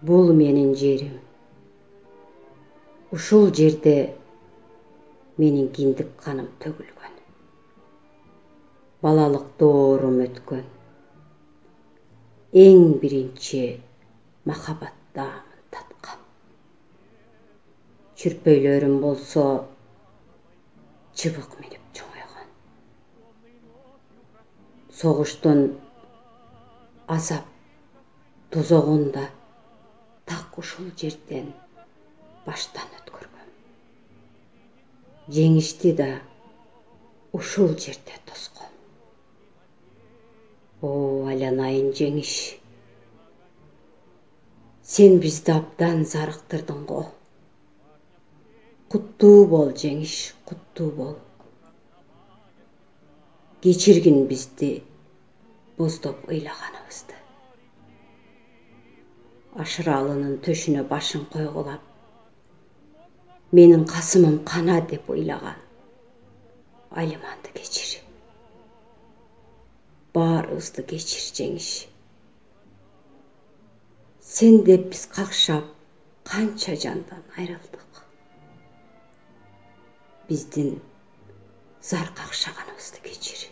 Бул менин жерим. Ушул жерде менин киндик каным төгүлгөн. Балалык доорум өткөн. Эң биринчи махаббат даамын таткан. Чүрпөйлөрүм болсо чыбык минип чоңойгон. Согуштун азап тозогун да так ушул жерден баштан өткөргөм. Жеңишти да ушул жерде тоском. О, айланайын жеңиш. Сен бизди абдан зарыктырдың го. Куттуу бол, жеңиш, куттуу бол. Кечиргин бизди боздоп ыйлаганыбызды. Ашыралынын төшүнө башын койгулап, менин касымым кана деп ыйлаган Алиманды кечир. Баарыбызды кечир, жеңиш. Сен деп биз какшап, канча жандан айрылдык. Биздин зар какшаганыбызды кечир.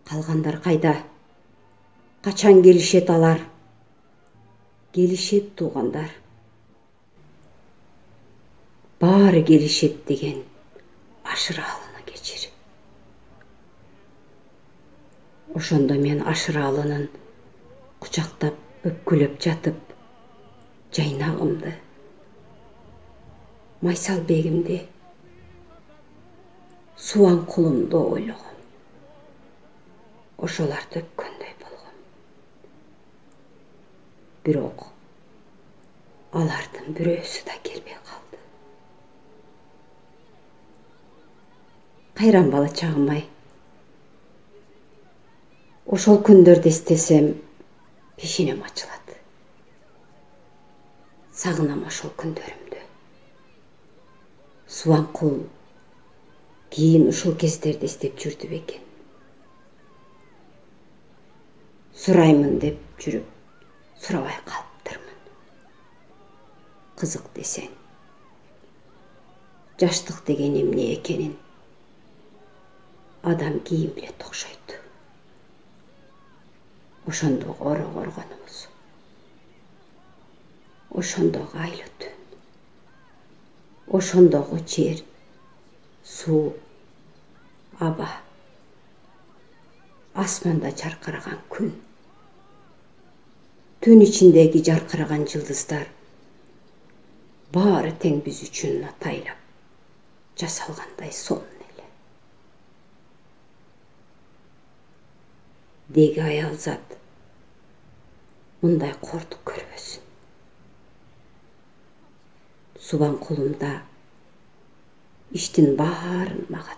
Калгандар кайда? Качан келишет алар? Келишет туугандар. Баары келишет деген Ашыралыны кечир. Ошондо мен Ашыралынын кучактап, өпкүлөп жатып, жайнагымды, Майсалбегимди, Субанкулумду ойлогом. Ошолорду өпкөндөй болгом. Бирок алардын бирөөсү да келбей калды. Кайран бала чагым-ай. Ошол күндөрдү эстесем, пешенем ачылат. Сагынам ошол күндөрүмдү. Субанкул кийин ушул кездерди эстеп жүрдү бекен. Сураймын деп жүрүп, сурабай калыптырмын. Кызык десең, жаштык деген эмне экенин адам кийин билет окшойт. Ошондогу оро коргонубуз, ошондогу айлы түн, ошондогу жер, суу, аба, асманда жаркыраган күн, түн ичиндеги жаркыраган жылдыздар баары тең биз үчүн атайлап жасалгандай сонун эле. Деги аялзат мындай кордук көрбөсүн. Субанкулум да иштин баарын мага